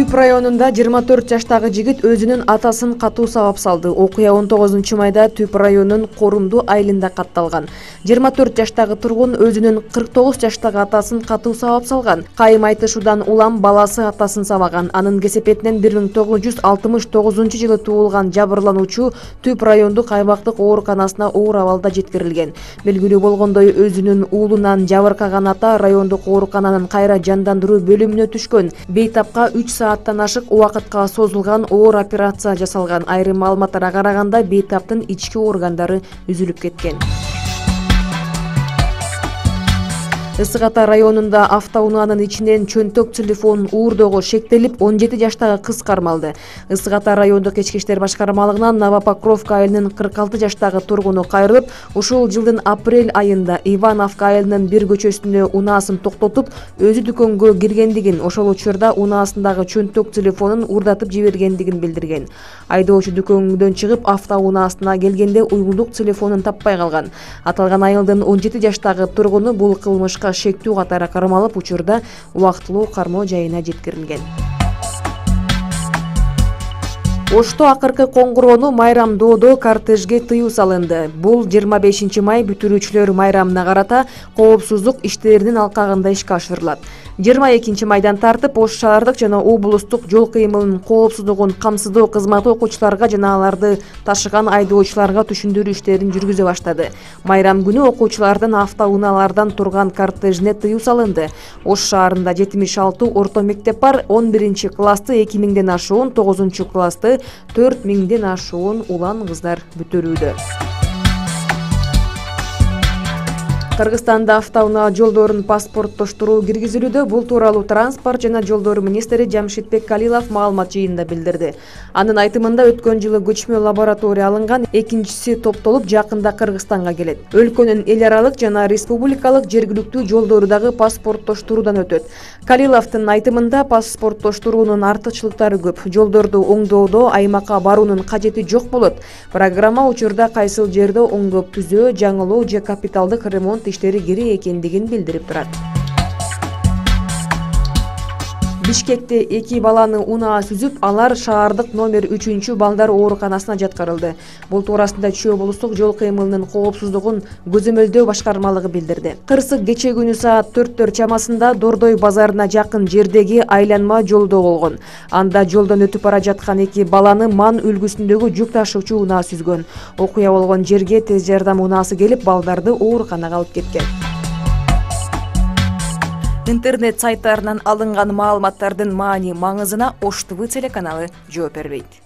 Түп районунда 24 жаштагы жигит өзүнүн атасын катуу сабап салды. Окуя 19 майда Түп районунун Корумду айылында катталган. 24 жаштагы тургун өзүнүн 49 жаштагы атасын катуу сабап салган. Кайым айтышуудан улам баласы атасын сабаган. Анын кесепетинен 1969-жылы туулган жабырлануучу Түп райондук аймактык ооруканасына оор абалда жеткирилген. Белгилүү болгондой, өзүнүн уулунан жабыркаган ата райондук оорукананын кайра жандандыруу бөлүмүнө түшкөн. Бейтапка 3 сааттан ашык убакытка созулган оор операция жасалган. Айрым маалыматтарга караганда бейтаптын ички органдары үзүлүп кеткен. Ысык Ата районунда автоунаанын ичинен чөнтөк телефон уурдоого шектелип 17 жаштагы кыз кармалды. Ысык Ата райондук ички иштер башкармалыгынан Новопокровка айылынын 46 жаштагы тургуну кайрылып, ушул жылдын апрель айында Ивановка айылынын бир көчөсүндө унаасын токтотуп, өзү дүкөнгө киргендигин, ошол учурда унаасындагы чөнтөк телефонун уурдатып жибергендигин билдирген. Айдоочу дүкөнгөдөн чыгып, автоунаасына келгенде уюлдук телефонун таппай калган. Аталган айылдын 17 жаштагы тургуну бул кылмышка шектүү катары кармалып, учурда убактылуу кармоо жайына жеткирилген. Ошто акыркы коңгуроону майрамдоодо кортежге тыюу салынды. Бул 25 май бүтүрүүчүлөр майрамына карата коопсуздук иштеринин алкагында ишке ашырылат. 22 майдан тартып Ош шаардык жана облустук жол кыймылынын коопсуздугун камсыздоо кызматы окуучуларга жана аларды ташыган айдоочуларга түшүндүрүү иштерин жүргүзө баштады. Майрам күнү окуучулардын автоунаалардан турган кортежине тыюу салынды. Ош шаарында 76 орто мектеп бар. 11 классты 2000ден ашуун, 9 классты 4000ден ашуун улан кыздар бүтүрүүдө. Кыргызстанда автоунаа жолдорун паспорттоштуруу киргизилүүдө. Бул тууралуу транспорт жана жолдор министри Жамшитбек Калилов маалымат жыйынында билдирди. Анын айтымында өткөн жылы көчмө лаборатория алынган, экинчиси топтолуп жакында Кыргызстанга келет. Өлкөнүн эл аралык жана республикалык жергиликтүү жолдору дагы паспорттоштуруудан өтөт. Калиловдун айтымында паспорттоштуруунун артыкчылыктары көп. Жолдорду оңдоодо аймакка баруунун кажети жок болот. Программа учурда кайсыл жерде оңдоп түзөө, жаңылоо же капиталдык ремонт иштери керек экендигин билдирип турат. Бишкекте 2 баланы унаа сүзүп, алар шаардык номер 3 балдар ооруканасына жаткырылды. Бул туурасында Чүй облустук жол кыймылынын коопсуздугун көзөмөлдөө башкармалыгы билдирди. Кырсык кече күнү саат 4 чамасында Дордой базарына жакын жердеги айланма жолдо болгон. Анда жолдон өтүп бара жаткан 2 баланы ман үлгүсүндөгү жүк ташуучу унаа сүзгөн. Окуя болгон жерге тез жардам унаасы келип, балдарды ооруканага алып кеткен. Интернет сайттарынан алынган маалыматтардын маани маңызына Ош ТВ телеканалы жооп бербейт.